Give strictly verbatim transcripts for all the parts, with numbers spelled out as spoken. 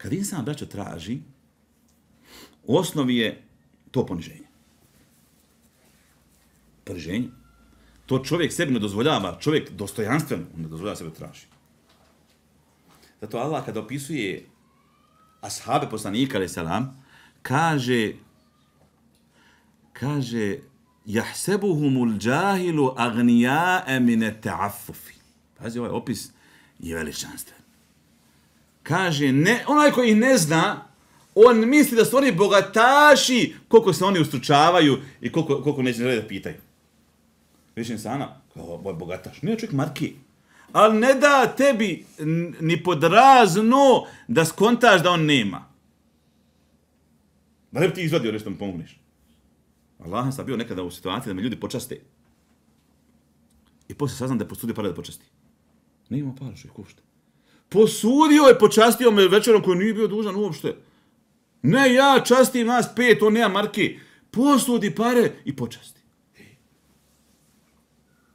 Kad insan, braćo, traži, u osnovi je to poniženje. Poniženje. To čovjek sebi ne dozvoljava, čovjek dostojanstveno ne dozvoljava sebe traži. Zato Allah kada opisuje ashabe poslanika, alaih salam, kaže, kaže, jahsebuhumul džahilu agnijae mine ta'affufi. Pazi, ovaj opis je veličanstven. Kaže, ne, onaj koji ih ne zna, on misli da su oni bogataši, koliko se oni ustručavaju i koliko, koliko neće da pitaju. Viš insana, kao ovaj bogataš, nije čovjek marki. Ali ne da tebi ni pod razno da skontaš da on nema. Da ne bi ti izvadio nešto mu pomogneš. Allah sam bio nekada u situaciji da me ljudi počaste. I poslije saznam da je posudio pare da počasti. Ne ima para što je košta. Posudio je, počastio me večerom koji nije bio dužan uopšte. Ne, ja častim nas pet, on nema marke. Posudi pare i počasti.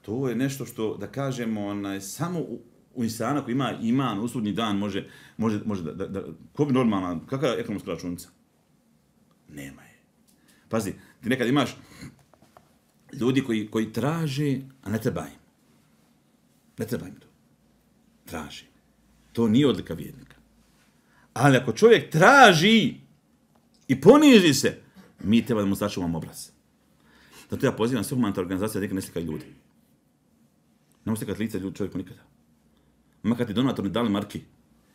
To je nešto što, da kažemo, onaj, samo u, u insana koji ima iman, usudnji dan, može, može, može da, da, da, ko bi normalna, kakva je ekonomska računica? Nema je. Pazi, ti nekad imaš ljudi koji, koji traže, a ne treba im. Ne treba im to. Traži. To nije odlika vjernika. Ali ako čovjek traži i poniži se, mi treba da mu sačuvamo obraz. Zato ja pozivam sve humanitarne organizacije da nekad ne slikaju ljudi. Nemoj slikati lice ljudi čovjeku nikada. Makar ti donator ne dali marki,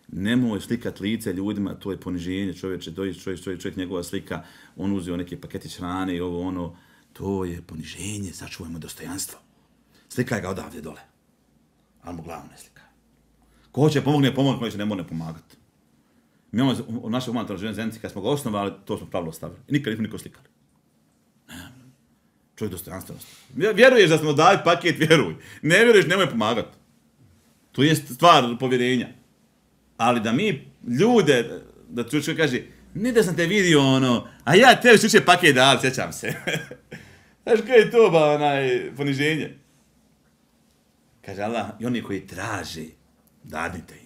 nemoj slikati lice ljudima, to je poniženje čovječe, doji čovjek, čovjek, čovjek, njegova slika, on uzeo neke paketić hrane i ovo ono, to je poniženje, sačuvajmo dostojanstvo. Slikaj ga odavdje dole, ali mu glavu ne slikaj. Ko hoće pomogne, pomogne, ko će ne mora pomagati. Mi imamo u našoj humanitarnoj zajednici, kad smo ga osnovali, to smo pravilo stavili. I nikad nismo niko slikali. Čovjek dostojanstvenost. Vjeruješ da smo dali paket, vjeruj. Ne vjeruješ, nemoj pomagati. To je stvar povjerenja. Ali da mi ljude, da čovjek kaže, ne da sam te vidio ono, a ja tebi slučaj paket dali, sjećam se. Znaš kaj je to, ba, onaj, poniženje? Kaže Allah, i oni koji traže, dadite im.